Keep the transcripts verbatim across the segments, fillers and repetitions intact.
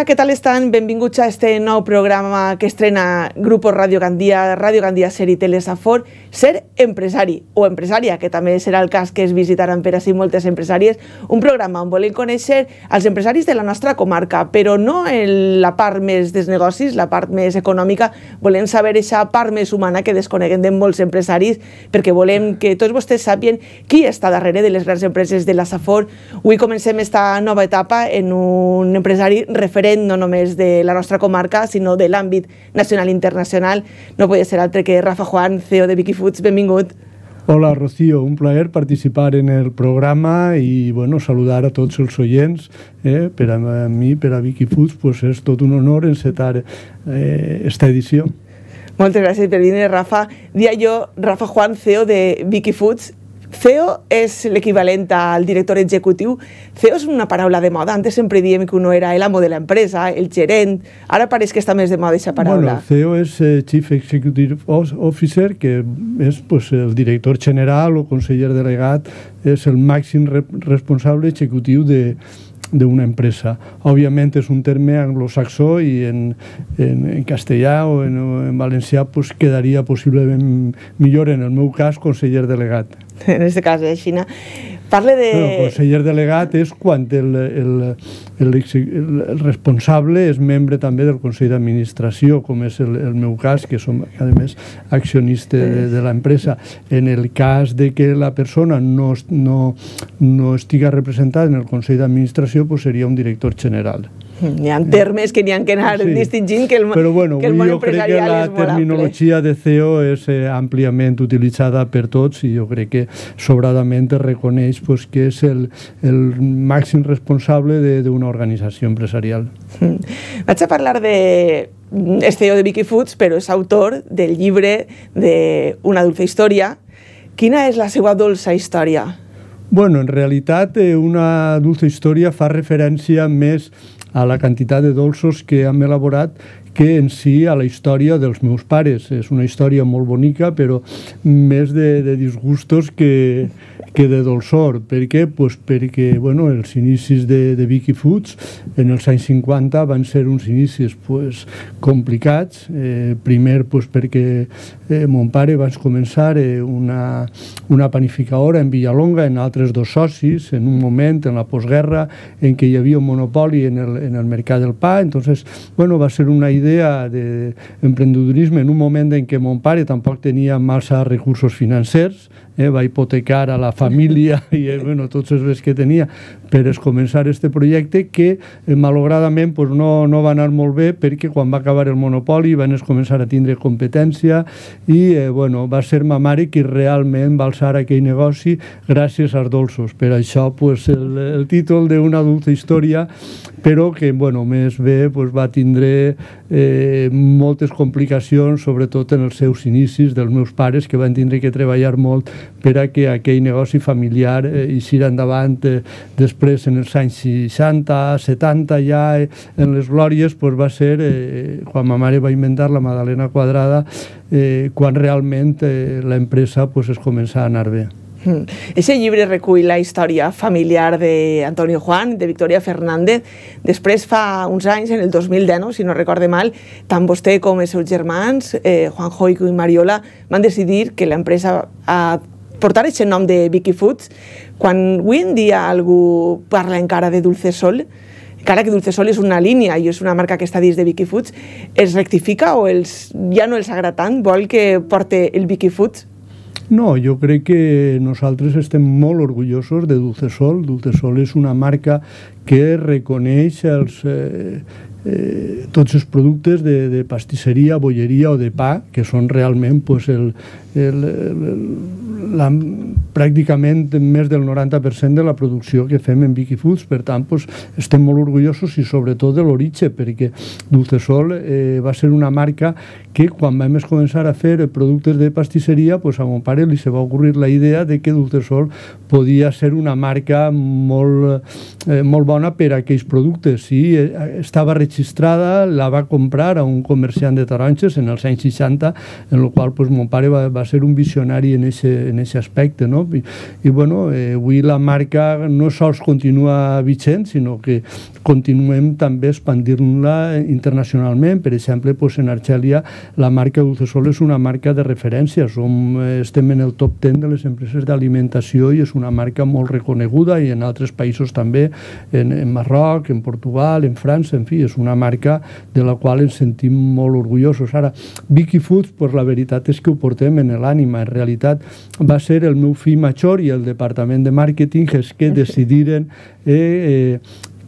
Hola, què tal estan? Benvinguts a este nou programa que estrena Grupo Radio Gandia, Radio Gandia Ser i Telesafor, Ser empresari o empresària, que també serà el cas que es visitaran per així moltes empresàries, un programa on volem conèixer els empresaris de la nostra comarca, però no en la part més dels negocis, la part més econòmica, volem saber aquesta part més humana que desconeguem de molts empresaris, perquè volem que tots vostès sàpien qui està darrere de les grans empreses de la Safor. Avui comencem esta nova etapa en un empresari referent no només de la nostra comarca, sinó de l'àmbit nacional i internacional. No podia ser altre que Rafa Juan, C E O de Vicky Foods. Benvingut. Hola, Rocío. Un plaer participar en el programa i bueno, saludar a tots els oients. Eh? Per a mi, per a Vicky Foods, pues és tot un honor encetar eh, esta edició. Moltes gràcies per venir, Rafa. Dia jo, Rafa Juan, C E O de Vicky Foods. C E O és l'equivalent al director executiu. C E O és una paraula de moda. Antes sempre diem que uno era l'amo de l'empresa, el gerent. Ara pareix que està més de moda aquesta paraula. Bueno, C E O és eh, Chief Executive Officer, que és pues, el director general o conseller delegat, és el màxim re responsable executiu de d'una empresa. Òbviament és un terme anglosaxó i en, en, en castellà o en, en valencià pues, quedaria possiblement millor, en el meu cas, conseller delegat. En aquest cas, així. Parle de... No, conseller delegat és quan el, el, el, el responsable és membre també del Consell d'Administració, com és el, el meu cas, que som, a més, accionista de, de l'empresa. En el cas de que la persona no, no, no estiga representada en el Consell d'Administració, pues seria un director general. Hi ha termes que n'hi ha que anar sí. distingint, que el, Però bueno, que el món jo crec que la terminologia de C E O és eh, àmpliament utilitzada per tots i jo crec que sobradament es reconeix pues, que és el, el màxim responsable d'una organització empresarial. Mm. Vaig a parlar de... És C E O de Vicky Foods, però és autor del llibre de Una dulce història. Quina és la seva dolça història? Bueno, en realitat, eh, Una dulce història fa referència més a la quantitat de dolços que hem elaborat que en si a la història dels meus pares. És una història molt bonica, però més de, de disgustos que, que de dolçor. Per què? Pues perquè bueno, els inicis de, de Vicky Foods en els anys cinquanta van ser uns inicis pues, complicats. Eh, primer pues, perquè eh, mon pare va començar eh, una, una panificadora en Villalonga, en altres dos socis, en un moment, en la postguerra, en què hi havia un monopoli en el, en el mercat del pa. Entonces, bueno, va ser una idea d'emprendedorisme en un moment en què mon pare tampoc tenia massa recursos financers, eh, va hipotecar a la família i eh, bueno, tots els béns que tenia per començar aquest projecte que eh, malauradament pues, no, no va anar molt bé perquè quan va acabar el monopoli van començar a tindre competència i eh, bueno, va ser ma mare qui realment va alçar aquell negoci gràcies als dolços. Per això pues, el, el títol d'Una dulce història, però que bueno, més bé pues, va tindre eh, moltes complicacions, sobretot en els seus inicis dels meus pares, que van tindre que treballar molt per a que aquell negoci familiar eh, eixira endavant. Eh, després, en els anys seixanta, setanta, ja eh, en les glòries, pues, va ser eh, quan ma mare va inventar la magdalena quadrada, eh, quan realment eh, l'empresa pues, es comença a anar bé. Aquest llibre recull la història familiar d'Antonio Juan, de Victoria Fernández. Després, fa uns anys, en el dos mil deu, si no recorde mal, tant vostè com els seus germans, eh, Juanjo i Mariola, van decidir que l'empresa a portar aquest nom de Vicky Foods. Quan avui en dia algú parla encara de Dulce Sol, encara que Dulce Sol és una línia i és una marca que està dins de Vicky Foods, es rectifica o els, ja no els agrada tant? Vol que porte el Vicky Foods? No, jo crec que nosaltres estem molt orgullosos de Dulce Sol. Dulce Sol és una marca que reconeix els, eh, eh, tots els productes de, de pastisseria, bolleria o de pa, que són realment pues, el, el, el, la, pràcticament més del noranta per cent de la producció que fem en Vicky Foods. Per tant, pues, estem molt orgullosos i sobretot de l'origen, perquè Dulce Sol eh, va ser una marca que quan vam començar a fer productes de pastisseria, pues, a mon pare li se va ocurrir la idea de que Dulce Sol podia ser una marca molt, eh, molt bona per a aquells productes. Sí, eh, estava registrada, la va comprar a un comerciant de taronges en els anys seixanta, en el qual pues, mon pare va, va ser un visionari en aquest aquest aspecte, no? I, i bueno, eh, avui la marca no sols continua vigent, sinó que continuem també expandir-la internacionalment. Per exemple, pues, en Argelia la marca Dulcesol és una marca de referència. Som, estem en el top deu de les empreses d'alimentació i és una marca molt reconeguda, i en altres països també, en, en Marroc, en Portugal, en França, en fi, és una marca de la qual ens sentim molt orgullosos. Ara, Vicky Foods, pues, la veritat és que ho portem en l'ànima. En realitat va ser el meu fill major i el departament de màrqueting els que decidiren eh, eh,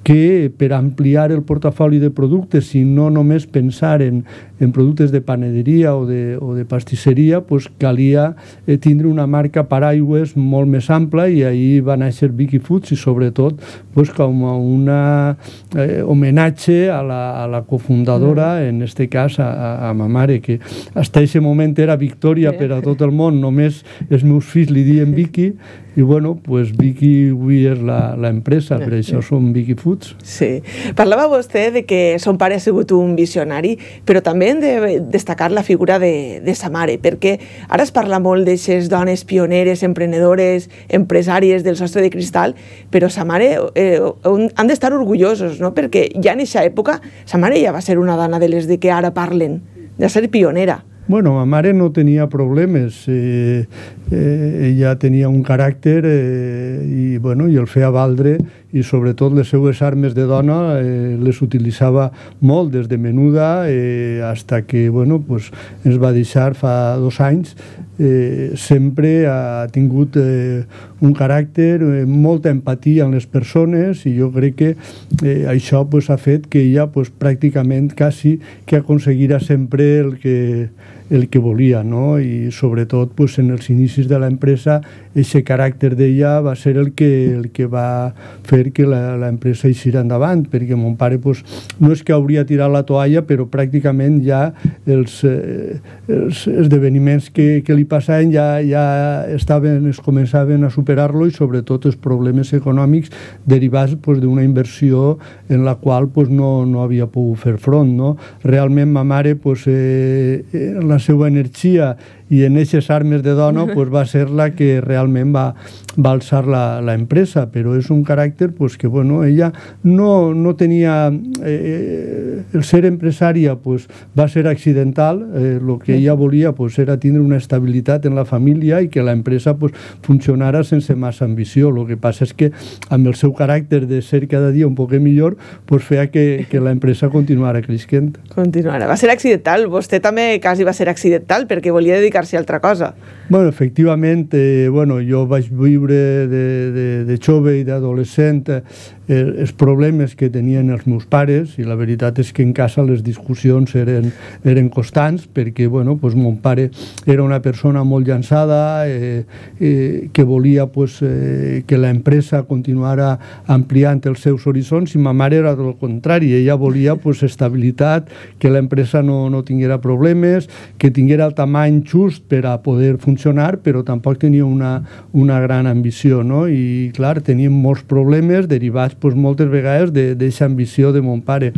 que per ampliar el portafoli de productes i no només pensar en, en productes de panaderia o de, o de pastisseria, pues calia eh, tindre una marca paraigües molt més ampla, i ahir va néixer Vicky Foods, i sobretot pues, com un eh, homenatge a la, a la cofundadora, mm. en este cas a, a, a ma mare, que fins a aquest moment era Victòria per a tot el món, només els meus fills li diuen Vicky, i bueno, pues Vicky avui és l'empresa, per això som Vicky Foods. Sí. Parlava vostè de que son pare ha sigut un visionari, però també hem de destacar la figura de, de sa mare, perquè ara es parla molt d'aixes dones pioneres, emprenedores, empresàries del sostre de cristal, però sa mare eh, han d'estar orgullosos, no? Perquè ja en aquesta època sa mare ja va ser una dona de les de que ara parlen, de ser pionera. Bueno, ma mare no tenia problemes, eh, eh, ella tenia un caràcter eh, i, bueno, i el feia valdre, i sobretot les seues armes de dona eh, les utilitzava molt, des de menuda eh, hasta que, bueno, pues, ens va deixar fa dos anys. Eh, sempre ha tingut eh, un caràcter, eh, molta empatia en les persones, i jo crec que eh, això pues, ha fet que ella pues, pràcticament quasi que aconseguirà sempre el que, el que volia, no? I sobretot pues, en els inicis de l'empresa aquest caràcter d'ella va ser el que, el que va fer que l'empresa eixirà endavant, perquè mon pare pues, no és que hauria tirat la toalla, però pràcticament ja els, eh, els esdeveniments que, que li passaven ja, ja estaven, es començaven a superar-lo, i sobretot els problemes econòmics derivats pues, d'una inversió en la qual pues, no, no havia pogut fer front, no? Realment ma mare pues, eh, la seva energia i en aquestes armes de dona pues, va ser la que realment va, va alçar l'empresa, però és un caràcter pues, que bueno, ella no, no tenia eh, el ser empresària pues, va ser accidental, el eh, que ella volia pues, era tindre una estabilitat en la família i que l'empresa pues, funcionara sense massa ambició. El que passa és que amb el seu caràcter de ser cada dia un poc millor pues, feia que, que l'empresa continuara creixent. Continuara. Va ser accidental, vostè també quasi va ser accidental perquè volia dedicar a altra cosa. Bueno, efectivament, eh, bueno, jo vaig viure de, de, de jove i d'adolescent eh, els problemes que tenien els meus pares, i la veritat és que en casa les discussions eren, eren constants, perquè bueno, pues, mon pare era una persona molt llançada, eh, eh, que volia pues, eh, que l'empresa continuara ampliant els seus horitzons, i ma mare era del contrari, ella volia pues, estabilitat, que l'empresa no, no tinguera problemes, que tinguera el tamany just per a poder funcionar, però tampoc tenia una, una gran ambició, no? I clar, teníem molts problemes derivats pues, moltes vegades d'aquesta ambició de mon pare.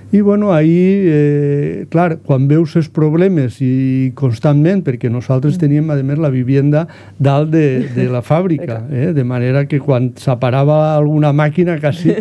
I bueno, ahir, eh, clar, quan veus els problemes i constantment, perquè nosaltres teníem a més la vivienda dalt de, de la fàbrica, eh? De manera que quan s'aparava alguna màquina quasi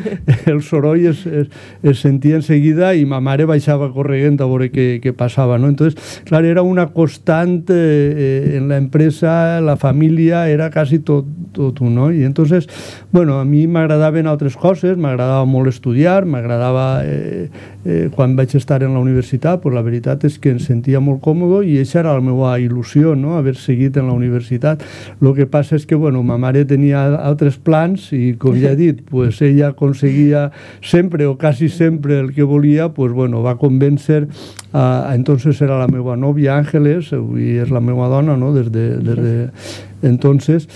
el soroll es, es, es sentia enseguida i ma mare baixava corrent a veure què, què passava, no? Entonces, clar, era una constant eh, en l'empresa, la família, era quasi tot, tot un, no? I entonces, bueno, a mi m'agradaven altres coses, m'agradava molt estudiar, m'agradava... Eh, Eh, quan vaig estar en la universitat, pues la veritat és que em sentia molt còmode i aquesta era la meva il·lusió, no? Haver seguit en la universitat. El que passa és que, bueno, ma mare tenia altres plans i, com ja he dit, pues ella aconseguia sempre o quasi sempre el que volia, pues bueno, va convèncer a, a entonces era la meva nòvia Àngeles, avui és la meva dona, no? Des de, des de entonces,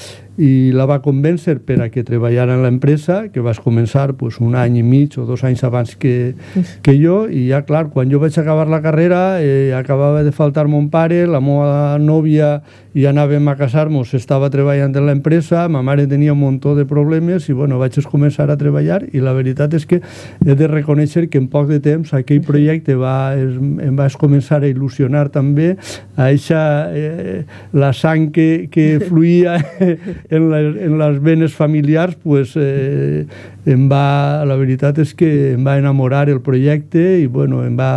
i la va convèncer per a que treballara en l'empresa, que vas començar pues, un any i mig o dos anys abans que, que jo, i ja, clar, quan jo vaig acabar la carrera, eh, acabava de faltar mon pare, la meva nòvia i anàvem a casar-nos, estava treballant en l'empresa, ma mare tenia un muntó de problemes i, bueno, vaig començar a treballar i la veritat és que he de reconèixer que en poc de temps aquell projecte va, es, em va començar a il·lusionar també, a eixa, eh, la sang que, que fluïa en, la, en les venes familiars, pues, eh, em va, la veritat és que em va enamorar el projecte i, bueno, em va...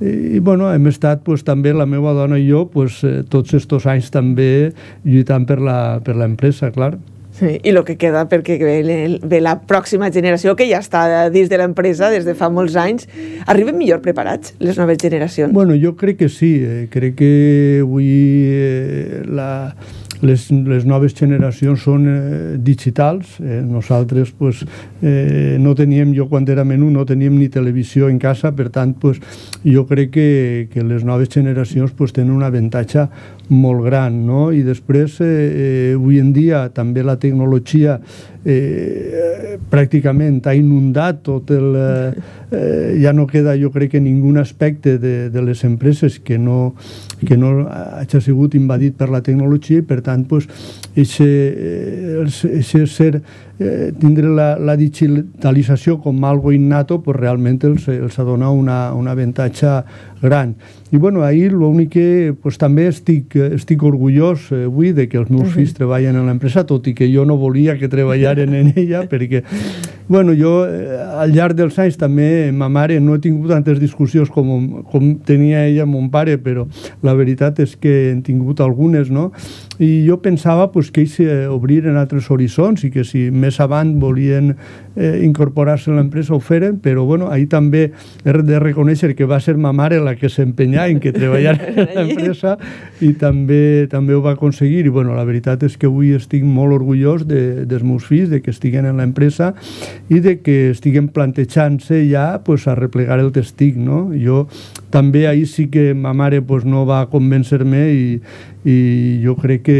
I, bueno, hem estat pues, també la meva dona i jo pues, eh, tots estos anys també lluitant per la, per l'empresa, clar. Sí, i el que queda perquè ve, ve la pròxima generació que ja està dins de l'empresa des de fa molts anys. Arriben millor preparats les noves generacions? Bueno, jo crec que sí. Eh, crec que avui eh, la, les, les noves generacions són eh, digitals. Eh, nosaltres pues, eh, no teníem, jo quan era menú no teníem ni televisió en casa, per tant pues, jo crec que, que les noves generacions pues, tenen un avantatge molt gran, no? I després eh, eh, avui en dia també la tecnologia eh, pràcticament ha inundat tot el... Eh, eh, ja no queda, jo crec que ningun aspecte de, de les empreses que no, que no hagi sigut invadit per la tecnologia i per tant pues, eixe, eixe ser eh, tindre la, la digitalització com algo innato pues, realment els, els ha donat una, un avantatge gran. I bueno, ahir l'únic que pues, també estic, estic orgullós eh, avui de que els meus uh-huh. fills treballen en l'empresa, tot i que jo no volia que treballaren en ella, perquè bueno, jo eh, al llarg dels anys també ma mare no he tingut tantes discussions com, com tenia ella amb mon pare, però la veritat és que hem tingut algunes, no? I jo pensava pues, que ells eh, obriren altres horitzons i que si més avant volien eh, incorporar-se a l'empresa ho feren, però bueno, ahir també he de reconèixer que va ser ma mare la que s'empenyà en que treballara en l'empresa i també també ho va aconseguir i bueno, la veritat és que avui estic molt orgullós de, dels meus fills, de que estiguen en l'empresa i de que estiguen plantejant-se ja pues, a replegar el testic, no? Jo també ahir sí que ma mare pues, no va convèncer-me i, i jo crec que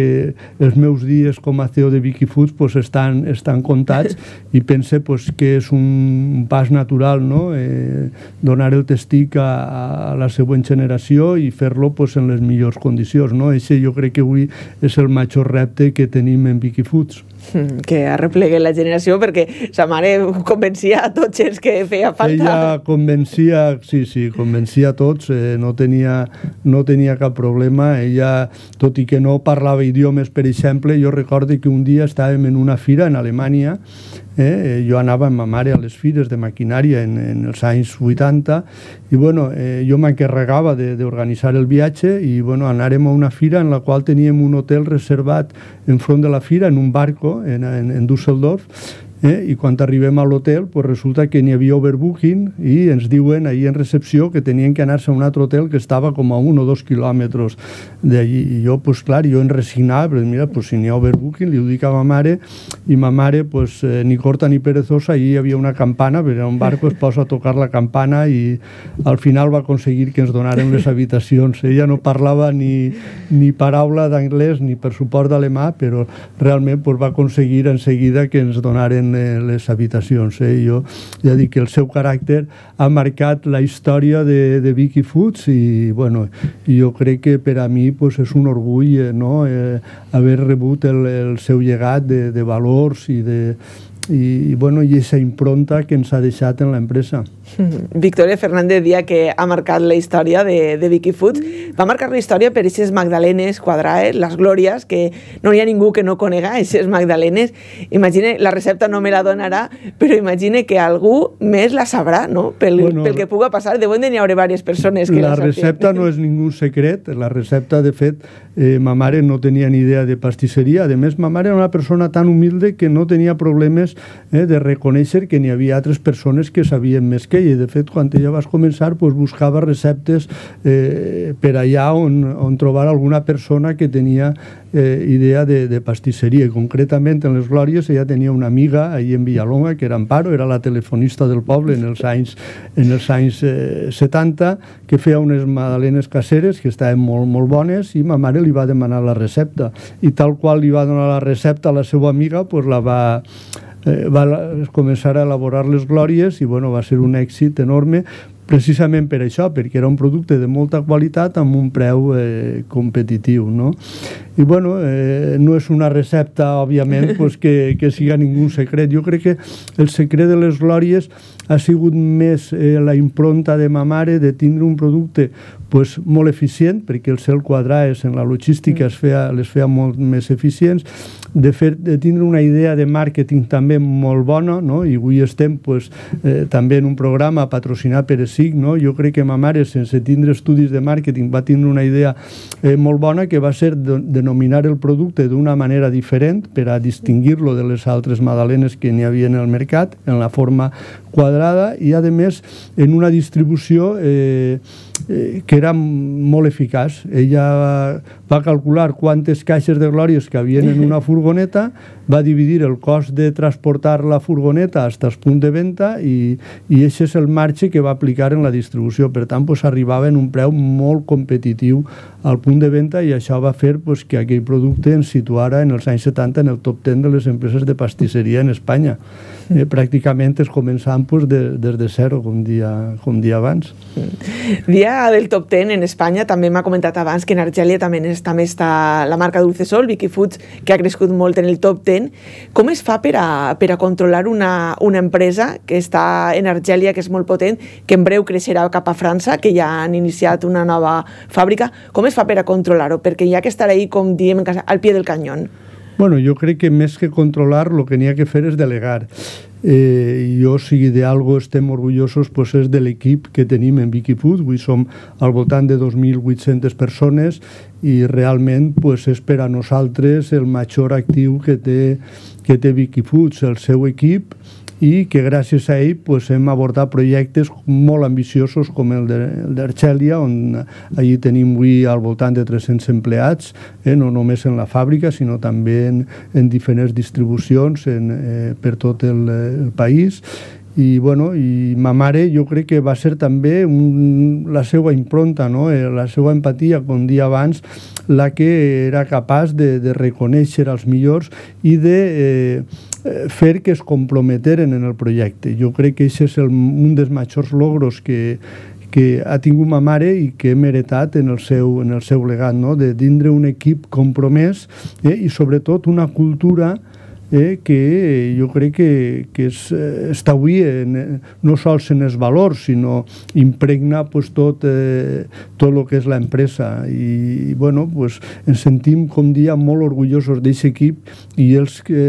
els meus dies com a C E O de Vicky Foods pues, estan, estan comptats i pense pues, que és un pas natural, no? eh, donar el testic a, a la següent generació i fer-lo pues, en les millors condicions, no? Això jo crec que avui és el major repte que tenim en Vicky Foods. Que arreplegue la generació perquè sa mare convencia a tots els que feia falta. Ella convencia, sí, sí, convencia a tots, eh, no, tenia, no tenia cap problema. Ella, tot i que no parlava idiomes, per exemple, jo recordo que un dia estàvem en una fira en Alemanya, eh, jo anava amb ma mare a les fires de maquinària en, en els anys vuitanta i bueno, eh, jo m'encarregava d'organitzar el viatge i bueno, anàrem a una fira en la qual teníem un hotel reservat enfront de la fira en un barco en, en, en Düsseldorf. Eh? I quan arribem a l'hotel pues resulta que n'hi havia overbooking i ens diuen ahir en recepció que tenien que anar-se a un altre hotel que estava com a un o dos quilòmetres d'allí. I jo, pues clar, jo en resignava, però mira, pues, si n'hi ha overbooking, li ho dic a ma mare, i ma mare, pues, eh, ni corta ni perezosa, allí hi havia una campana, perquè un barco es posa a tocar la campana i al final va aconseguir que ens donaren les habitacions. Ella no parlava ni, ni paraula d'anglès ni per suport d'alemà, però realment pues, va aconseguir en seguida que ens donaren les habitacions. Eh? Jo ja dic que el seu caràcter ha marcat la història de, de Vicky Foods i bueno, jo crec que per a mi pues, és un orgull eh, no? eh, haver rebut el, el seu llegat de, de valors i de i, i bueno, i aquesta impronta que ens ha deixat en l'empresa. Victoria Fernández dia que ha marcat la història de, de Vicky Foods. Va marcar la història per aquestes magdalenes quadrades, les glòries, que no hi ha ningú que no conega aquestes magdalenes. Imagine, la recepta no me la donarà, però imagine que algú més la sabrà, no? Pel, bueno, pel que puga passar, deuen de n'hi haure diverses persones que la, la recepta no és ningú secret. La recepta, de fet, eh, ma mare no tenia ni idea de pastisseria. A més, ma mare era una persona tan humilde que no tenia problemes eh, de reconèixer que n'hi havia altres persones que sabien més que queia. De fet, quan ella vas començar, pues, buscava receptes eh, per allà on, on trobar alguna persona que tenia eh, idea de, de pastisseria. I concretament en les Glòries ella tenia una amiga allà en Villalonga, que era Amparo, era la telefonista del poble en els anys, en els anys eh, setanta, que feia unes magdalenes caseres que estaven molt, molt bones, i ma mare li va demanar la recepta. I tal qual li va donar la recepta a la seva amiga, pues, la va... Eh, va començar a elaborar les Glòries i bueno, va ser un èxit enorme precisament per això, perquè era un producte de molta qualitat amb un preu eh, competitiu, no? I bueno, eh, no és una recepta, òbviament, pues, que, que siga ningú secret. Jo crec que el secret de les Glòries ha sigut més eh, la impronta de ma mare de tindre un producte pues, molt eficient, perquè el cel quadrats en la logística es feia, les feia molt més eficients, de, fer, de tindre una idea de màrqueting també molt bona, no? I avui estem pues, eh, també en un programa patrocinat per E S I C, no? Jo crec que ma mare, sense tindre estudis de màrqueting, va tindre una idea eh, molt bona, que va ser de, denominar el producte d'una manera diferent per a distingir-lo de les altres magdalenes que n'hi havia en el mercat, en la forma quadrada, i a més en una distribució eh, eh, que era molt eficaç. Ella va, va calcular quantes caixes de Glòries que havien en una furgoneta, va dividir el cost de transportar la furgoneta fins al punt de venda i, i aquest és el marge que va aplicar en la distribució. Per tant, pues, arribava en un preu molt competitiu al punt de venda, i això va fer pues, que aquell producte ens situara en els anys setanta en el top deu de les empreses de pastisseria en Espanya. Eh, pràcticament es començant pues, de, des de zero, com dia, com dia abans. Dia del top deu en Espanya, també m'ha comentat abans que en Argèlia també, és, també està la marca Dulcesol, Vicky Foods, que ha crescut molt en el top deu. Com es fa per a, per a controlar una, una empresa que està en Argèlia, que és molt potent, que en breu creixerà cap a França, que ja han iniciat una nova fàbrica? Com es fa per a controlar-ho? Perquè hi ha que estar ahí, com diem, al pie del canyón. Bueno, jo crec que més que controlar, el que n'hi ha que fer és delegar. Eh, jo, si d'algo estem orgullosos, pues és de l'equip que tenim en Vicky Foods. Avui som al voltant de dos mil vuit-centes persones i realment pues, és per a nosaltres el major actiu que té, que té Vicky Foods, el seu equip, i que gràcies a ell pues, hem abordat projectes molt ambiciosos com el d'Argèlia, on allí tenim avui al voltant de tres-cents empleats, eh, no només en la fàbrica, sinó també en, en diferents distribucions en, eh, per tot el, el país. I, bueno, i ma mare jo crec que va ser també un, la seva impronta, no? La seva empatia, com dia abans, la que era capaç de, de reconèixer els millors i de eh, fer que es comprometeren en el projecte. Jo crec que aquest és el, un dels majors logros que, que ha tingut ma mare i que hem heretat en el seu, en el seu legat, no? De tindre un equip compromès eh, i sobretot una cultura Eh, que jo crec que, que és, eh, està avui en, no sols en els valors, sinó impregna pues, tot, eh, tot el que és l'empresa. I, i bueno, pues, ens sentim, com dia, molt orgullosos d'aquest equip i els que,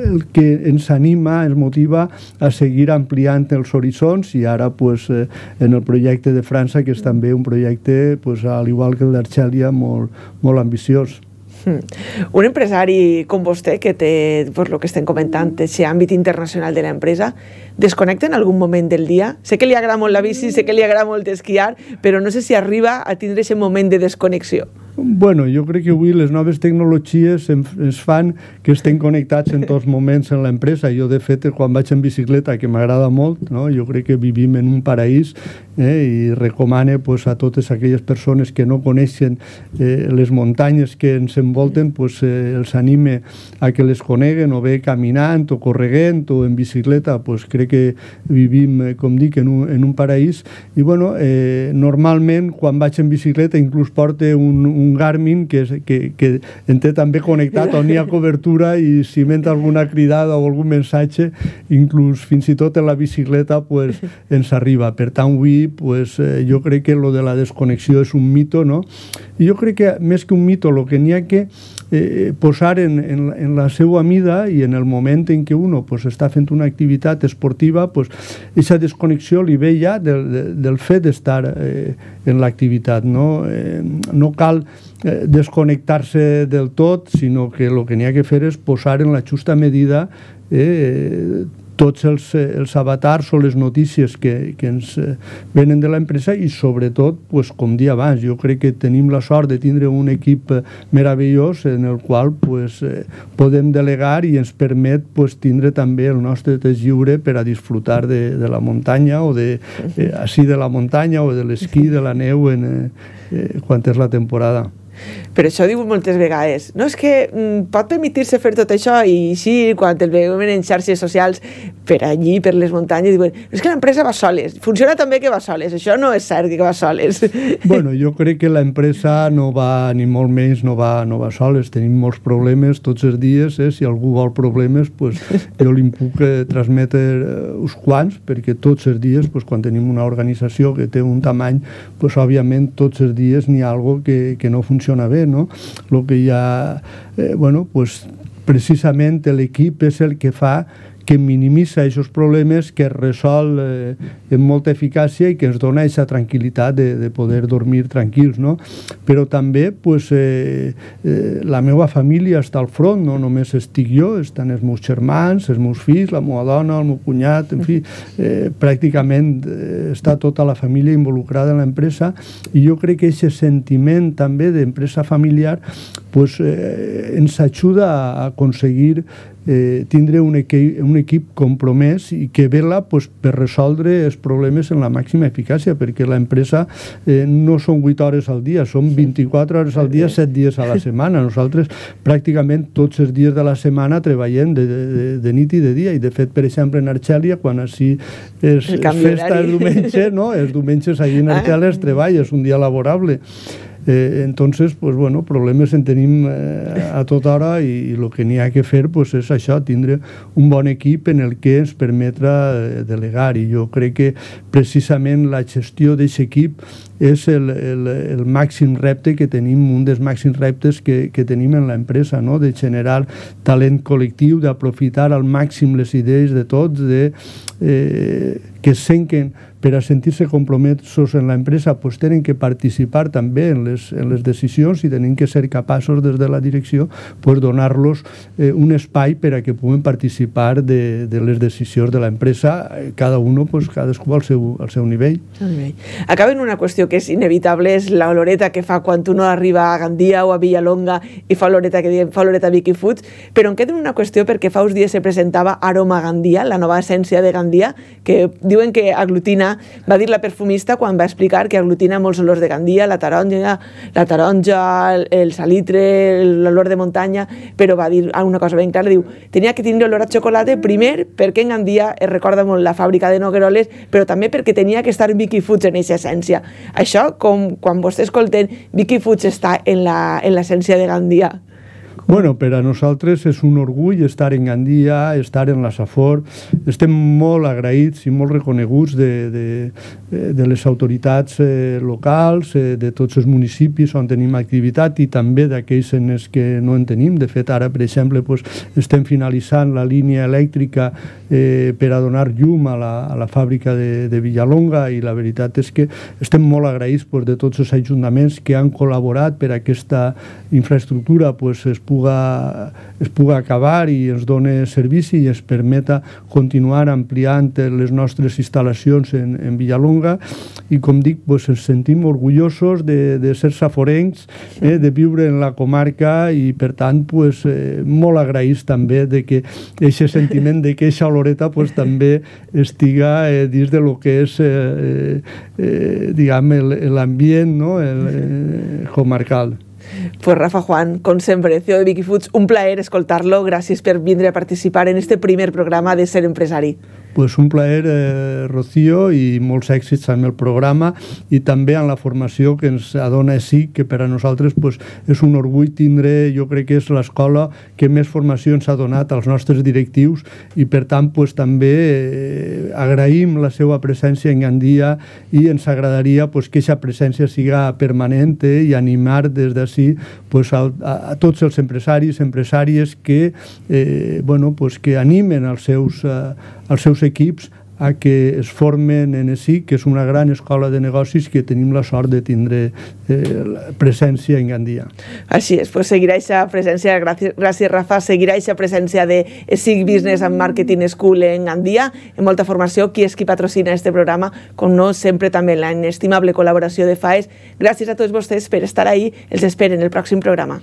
el que ens anima, ens motiva a seguir ampliant els horitzons i ara pues, eh, en el projecte de França, que és també un projecte, pues, al igual que el d'Argèlia, molt, molt ambiciós. Un empresari com vostè, que té pues, el que estem comentant, aquest àmbit internacional de l'empresa, desconnecta en algun moment del dia? Sé que li agrada molt la bici, sé que li agrada molt esquiar, però no sé si arriba a tindre aquest moment de desconnexió. Bueno, jo crec que avui les noves tecnologies ens fan que estem connectats en tots moments en l'empresa. Jo, de fet, quan vaig en bicicleta, que m'agrada molt, no? Jo crec que vivim en un paraís eh, i recomane pues, a totes aquelles persones que no coneixen eh, les muntanyes que ens envolten, pues, eh, els anime a que les coneguen, o bé caminant, o correguent, o en bicicleta. Pues, crec que vivim, eh, com dic, en un, en un paraís. I, bueno, eh, normalment, quan vaig en bicicleta, inclús porte un, un un Garmin que, que, que en té també connectat on hi ha cobertura i si m'entra alguna cridada o algun missatge, inclús fins i tot en la bicicleta pues, ens arriba. Per tant, avui pues, eh, jo crec que lo de la desconnexió és un mito, no? I jo crec que més que un mito, el que n'hi ha que eh, posar en, en, en la seva mida i en el moment en què uno pues, està fent una activitat esportiva, pues, aquesta desconnexió li ve ja del, del fet d'estar eh, en l'activitat, no? Eh, no cal eh, desconnectar-se del tot, sinó que el que n'hi ha que fer és posar en la justa medida eh, tots els, els avatars o les notícies que, que ens venen de l'empresa i sobretot, pues, com dia abans, jo crec que tenim la sort de tindre un equip meravellós en el qual pues, eh, podem delegar i ens permet pues, tindre també el nostre temps lliure per a disfrutar de, de la muntanya o de, eh, així de la muntanya o de l'esquí, de la neu en, eh, eh, quan és la temporada. Per això diu moltes vegades, no, és que mm, pot permetir-se fer tot això i així, quan el veiem en xarxes socials per allí, per les muntanyes, diuen, és que l'empresa va soles, funciona també que va soles, això no és cert que va soles. Bueno, jo crec que l'empresa no va, ni molt menys, no va, no va soles, tenim molts problemes tots els dies, eh? Si algú vol problemes, pues, jo li puc eh, transmetre eh, uns quants, perquè tots els dies, pues, quan tenim una organització que té un tamany, pues, òbviament tots els dies n'hi ha algo que, que no funciona bé, no? Lo que hi ha, eh, bueno, pues precisament l'equip és el que fa que minimitza aquests problemes, que es resol eh, amb molta eficàcia i que ens dona aquesta tranquil·litat de, de poder dormir tranquils, no? Però també, pues, eh, eh, la meva família està al front, no només estic jo, estan els meus germans, els meus fills, la meva dona, el meu cunyat, en fi, eh, pràcticament eh, està tota la família involucrada en l'empresa i jo crec que aquest sentiment també d'empresa familiar pues, eh, ens ajuda a aconseguir eh, tindre un equip, un equip compromès i que vela pues, per resoldre els problemes en la màxima eficàcia, perquè l'empresa eh, no són vuit hores al dia, són vint-i-quatre hores al dia, set dies a la setmana. Nosaltres pràcticament tots els dies de la setmana treballem de, de, de nit i de dia, i de fet, per exemple, en Arxèlia, quan així és, és festa el diumenge, no? Els diumenges allí en Arxèlia es treballa, és un dia laborable. Eh, entonces, pues bueno, problemes en tenim eh, a tota hora i, i el que n'hi ha que fer pues, és això, tindre un bon equip en el que ens permetra eh, delegar, i jo crec que precisament la gestió d'aquest equip és el, el, el màxim repte que tenim, un dels màxims reptes que, que tenim en l'empresa, no? De generar talent col·lectiu, d'aprofitar al màxim les idees de tots, de, eh, que senquen per a sentir-se compromesos en l'empresa, pues, tenen que participar també en les, en les decisions i tenen que ser capaços des de la direcció pues, donar-los eh, un espai per a que puguen participar de, de les decisions de l'empresa, cada un, pues, cadascú al seu, al seu nivell. Acaba en una qüestió que és inevitable, és la oloreta que fa quan uno arriba a Gandia o a Villalonga i fa oloreta que diem, fa oloreta Vicky Foods, però em queda una qüestió perquè fa uns dies se presentava Aroma Gandia, la nova essència de Gandia, que diuen que aglutina, va dir la perfumista quan va explicar que aglutina molts olors de Gandia, la taronja, la taronja, el salitre, l'olor de muntanya, però va dir una cosa ben clara, diu, tenia que tindre olor a xocolata, primer perquè en Gandia es recorda molt la fàbrica de Nogueroles, però també perquè tenia que estar Vicky Foods en aquesta essència. Això, com quan vostè escolten, Vicky Foods està en l'essència de Gandia. Bueno, per a nosaltres és un orgull estar en Gandia, estar en la Safor. Estem molt agraïts i molt reconeguts de, de, de les autoritats eh, locals, eh, de tots els municipis on tenim activitat i també d'aquells en els que no en tenim. De fet, ara, per exemple, pues, estem finalitzant la línia elèctrica eh, per a donar llum a la, a la fàbrica de, de Villalonga, i la veritat és que estem molt agraïts pues, de tots els ajuntaments que han col·laborat per a aquesta infraestructura pues, es pugui es puga acabar i ens doni servici i es permeta continuar ampliant les nostres instal·lacions en, en Villalonga, i com dic, pues, ens sentim orgullosos de, de ser saforencs, eh, de viure en la comarca, i per tant pues, eh, molt agraïts també de que aquest sentiment de que aquesta oloreta pues, també estiga eh, dins de lo que és eh, eh, diguem, l'ambient, no? el, eh, comarcal. Pues Rafa Juan, com sempre, C E O de Vicky Foods, un plaer escoltar-lo. Gràcies per vindre a participar en este primer programa de Ser Empresari. Pues un plaer, eh, Rocío, i molts èxits amb el programa i també en la formació que ens adona així, que per a nosaltres pues, és un orgull tindre, jo crec que és l'escola que més formació ens ha donat als nostres directius, i per tant pues, també eh, agraïm la seva presència en Gandia, i ens agradaria pues, que aquesta presència siga permanent eh, i animar des d'ací pues, a, a, a tots els empresaris, empresàries que, eh, bueno, pues, que animen els seus, eh, els seus equips a que es formen en E S I C, que és una gran escola de negocis que tenim la sort de tindre eh, presència en Gandia. Així és, pues seguirà aquesta presència, gràcies, gràcies Rafa, seguirà aquesta presència de E S I C Business and Marketing School en Gandia, en molta formació, qui és qui patrocina este programa, com no, sempre també la inestimable col·laboració de FAES. Gràcies a tots vostès per estar ahí, els esperen el pròxim programa.